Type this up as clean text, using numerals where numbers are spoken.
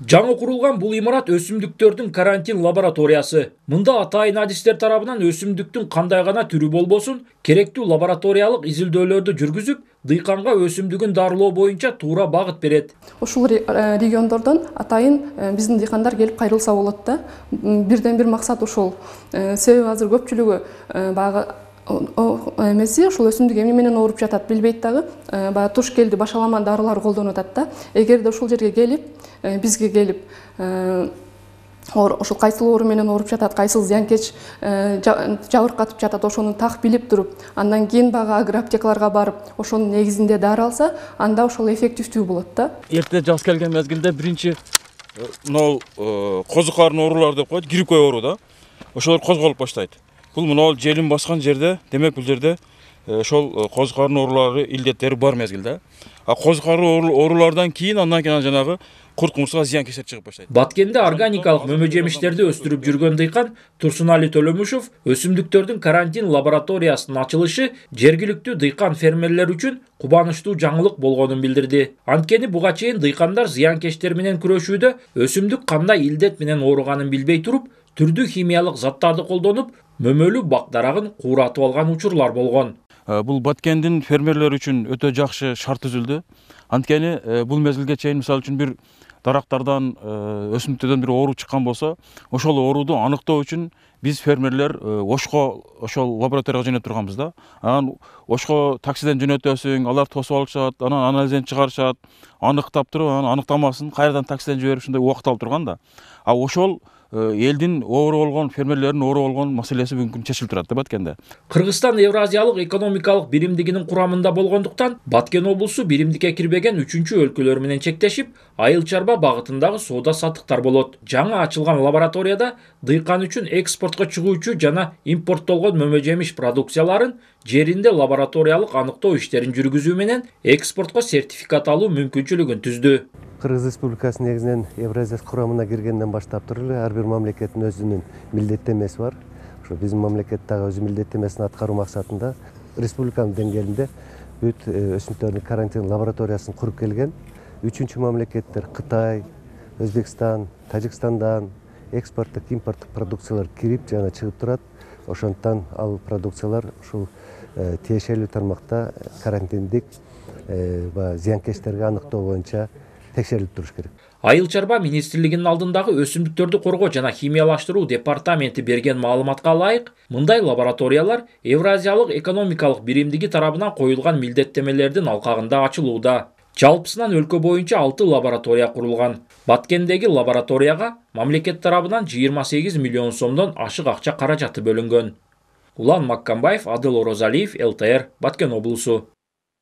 Жаңы курулган бул имарат өсүмдүктөрдүн карантин лабораториясы. Мында атайын адистер тарабынан өсүмдүктүн кандай гана түрү болбосун, керектүү лабораториялык изилдөөлөрдү жүргүзүп, дыйканга өсүмдүгүн дарылоо боюнча туура багыт берет. Ушул региондордон атайын биздин дыйкандар келип кайрылса болот да. Бирден бир максат ушул. Себеби азыр көпчүлүгү баягы эмеси ушул өсүмдүк эмне менен ооруп жатат билбейт дагы. Баягы туш келди башалама дарылар колдонуп атат да. Эгерде ушул жерге келип, бизге келип ошол кайсыл оору менен ооруп жатат, кайсыл зыянкеч жабыркатып жатат, ошону так билип туруп, андан кийин баягы агроаптекаларга барып, ошонун негизинде дары алса, анда ошол эффективдүү болот да. Эрте жаз келген мезгилде биринчи мынау козу карын оорулары деп коет, гриппой оору да. Ошолор козголуп баштайт. Бул мынау желин баскан жерде, демек бул жерде ошол козу карын оорулары илдеттери бар мезгилде. А козу карын оорулардан кийин андан кийин жанагы курт кумурска зыянкечтер чыгып баштайт. Баткенде органикалык мөмө жемиштерди өстүрүп жүргөн дыйкан Турсунали Төлөмүшев өсүмдүктөрдүн карантин лабораториясынын ачылышы жергиликтүү дыйкан фермерлер үчүн кубанычтуу жаңылык болгонун билдирди. Анткени буга чейин дыйкандар зыянкечтер менен күрөшүүдө өсүмдүк кандай илдет менен ооруганын билбей туруп, түрдүү химиялык заттарды колдонуп, мөмөлүү бак дарагын кууратып алган учурлар болгон. Бул Баткендин фермерлери үчүн өтө жакшы шарт түзүлдү. Анткени бул мезгилге чейин мисалы үчүн бир дарактардан, өсүмдүктөрдөн бир оору чыккан болсо, ошол ооруду аныктоо үчүн биз фермерлер Ошко ошол лабораторияга жөнөтүп турганбыз да. Анан Ошко таксиден жөнөтөсүң, алар тосуп алышат, анан анализден чыгарышат, аныктап туруп, анан аныктамасын кайрадан таксиден жиберип ушундай убакыт алып турган да. А ошол элдин оору болгон, фермерлердин оору болгон маселеси бүгүнкү күндө чечилип турат да Баткенде. Кыргызстан Евразиялык экономикалык биримдигинин курамында болгондуктан, Баткен облусу биримдикке кирбеген 3-өлкөлөр менен чектешип, айыл чарба багытындагы соода саттыктар болот. Жаңы ачылган лабораторияда дыйкан үчүн экспортко чыгуучу жана импорттолгон мөмө жемиш продукцияларын жеринде лабораториялык аныктоо иштерин жүргүзүү менен экспортко сертификат алуу мүмкүнчүлүгүн түздү. Кыргыз Республикасы негизинен Евразия курамына киргенден баштап туруп эле ар бир мамлекеттин өзүнүн милдеттенмеси бар. Ошо биздин мамлекет дагы өзүнүн милдеттенмесин аткаруу максатында республиканын деңгээлинде бүт өсүмдүктөрдүн карантин лабораториясын куруп келген. Үчүнчү мамлекеттер Кытай, Өзбекстан, Тажикстандан экспорттук, импорттук продукциялар кирип жана чыгып турат. Ошондуктан ал продукциялар ушул тиешелүү тармакта карантиндик зыянкечтерди аныктоо боюнча текшерилип туруш керек. Айыл чарба министрлигинин алдындагы өсүмдүктөрдү коргоо жана химиялаштыруу департаменти берген маалыматка ылайык, мындай лабораториялар Евразиялык экономикалык биримдиги тарабынан коюлган милдеттемелердин алкагында ачылууда. Жалпысынан өлкө боюнча 6 лаборатория курулган. Баткендеги лабораторияга мамлекет тарабынан 28 миллион сомдон ашык акча каражаты бөлүнгөн. Улан Маккамбаев, Адыл Орозалиев, ЛТР, Баткен облусу.